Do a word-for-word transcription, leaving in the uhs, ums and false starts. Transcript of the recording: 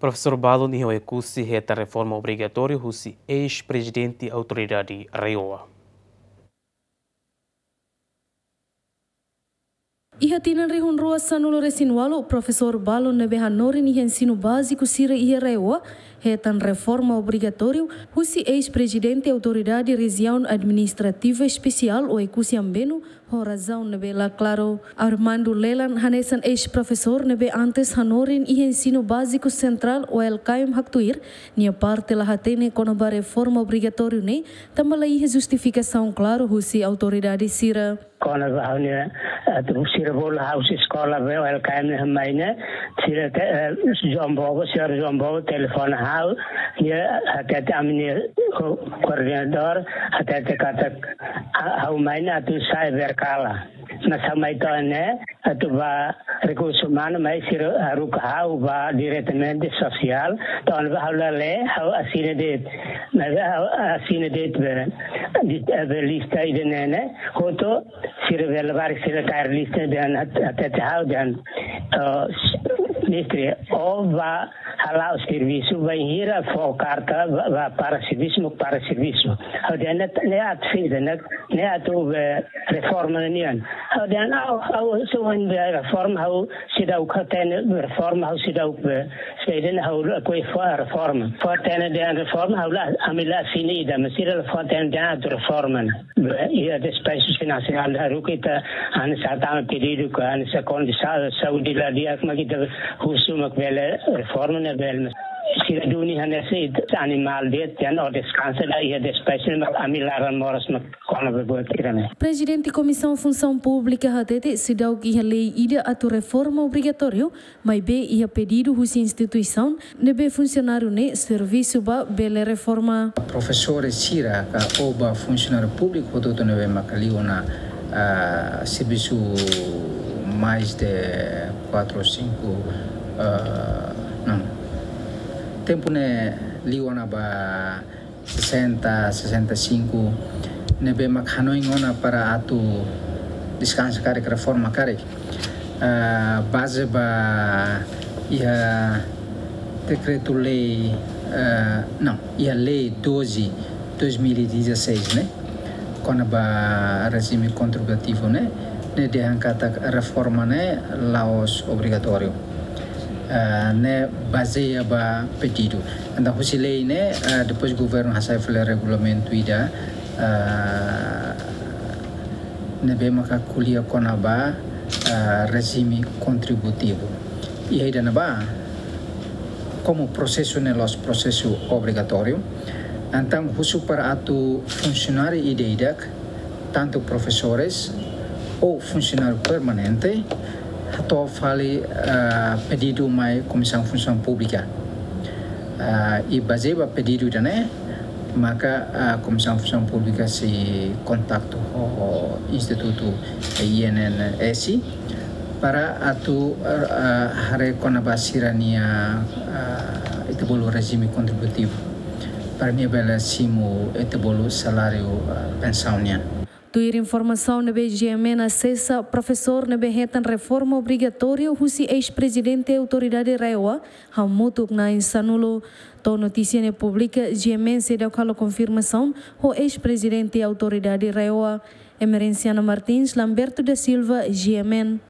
Profesór balun iha Oekusi hetan reforma obrigatóriu husi eis-prezidente Autoridade RAEOA. Iha tinan rihun rua sanulu resin walu, profesór balun ne'ebé hanorin iha ensinu báziku sira iha RAEOA hetan reforma obrigatóriu husi eis-prezidente Autoridade Rejiaun Administrativa Espesiál Oekusi Ambenu, ho razaun ne'ebé la klaru. Armando Lelan, hanesan eis-profesór ne'ebé antes hanorin iha ensinu báziku sentrál OLKM haktuir, nia parte la hatene kona-ba reforma obrigatóriu ne'e, tanba la iha justifikasaun klaru husi autoridade sira. Kona-ba ha'u-nia, eh, atu sira bolu ha'u husi eskola be OLKM ne'e mai ne'e, sira te, eh, João Bobo, señór João Bobo telefone ha'u, nia hatete ami-nia ko-, koordenadór, hatete katak ha-, ha'u mai ne'e atu sai Verkala. Mas ha'u mai to'o ne'e, atu ba rekursu umanu, mas sira haruka ha'u ba diretamente sosiál, to'o ne'ebá ha'u la lee, ha'u asina de'it. Mas ha'u asina de'it be, di, be lista ida-ne'e ne'e, hotu sira be labarik sira kaer lista dehan hat-, hatete ha'u dehan, eh, mestre, ó ba hala'o servisu, bainhira fó karta ba, ba para servisu, mós para servisu. Ha'u dehan ne'e, ne'e atu saida, ne'e, ne'e atu be reforma nian. Ha'u dehan ha'u, ha'u se wan be reforma, ha'u seidauk hatene reforma, ha'u seidauk be, saida ne'e ha'u lakohi fó reforma. Fó hatene dehan reforma, ha'u la, ami la asina ida, mas sira la fó hatene dehan atu reforma ne'e. Be, iha despaxu finansiál haruka ita hanesan hatama pedidu ka hanesan kondisaun saúde la di'ak mak ita husu mak bele reforma ne'e bele. Sira duni hanesan ita animál de'it, dehan ó deskansa, la iha despaxu mak ami laran moras mak kona-ba buat sira-ne'e. Prezidente Komisaun Funsaun Públika hatete seidauk iha lei ida atu reforma obrigatóriu, maibé iha pedidu husi instituisaun ne'ebé funsionáriu ne'e servisu ba bele reforma. Profesór sira ka ou ba funsionáriu públiku hotu-hotu ne'ebé maka liu ona, ah, servisu mais de quatro ou cinco, ah, não. Tempu ne'e liu ona ba sessenta, sessenta e cinco, ne'ebé mak hanoin ona para atu deskansa karik, reforma karik. Ah, baze ba iha dekretu-lei, ah, não, iha lei doze, dois mil e dezasseis, ne'e? Kona-ba rejime kontributivu, ne'e? Ne'e dehan katak reforma ne'e la'ós obrigatóriu. Ah, ne'e bazeia ba pedidu. Entaun husi lei ne'e, ah, depois governu hasai fali regulamentu ida, ah, ne'ebé maka ko'alia kona-ba, ah, rejime kontributivu. Iha ida-ne'ebá, komu prosesu ne'e la'ós prosesu obrigatóriu, entaun husu para atu funsionáriu ida-idak, tantu profesores ou funsionáriu permanente, hato'o fali, ah, pedidu mai Komisaun Funsaun Públika. Ah, i bazeia ba pedidu ida-ne'e, maka, ah, Komisaun Funsaun Públika sei kontaktu ho Institutu I N S S para atu, ah, haree kona-ba sira-nia, ah, ita bolu rejime kontributivu. Para nia bele simu ita bolu saláriu, ah, pensaun nian. Tuir informasaun ne'ebé GMN asesa, profesór ne'ebé hetan reforma obrigatóriu husi eis-prezidente Autoridade RAEOA, hamutuk na'in sanulu. To'o notísia ne'e publika, GMN seidauk halo konfirmasaun ho eis-prezidente Autoridade RAEOA. Emerenciana Martins, Lamberto da Silva, GMN.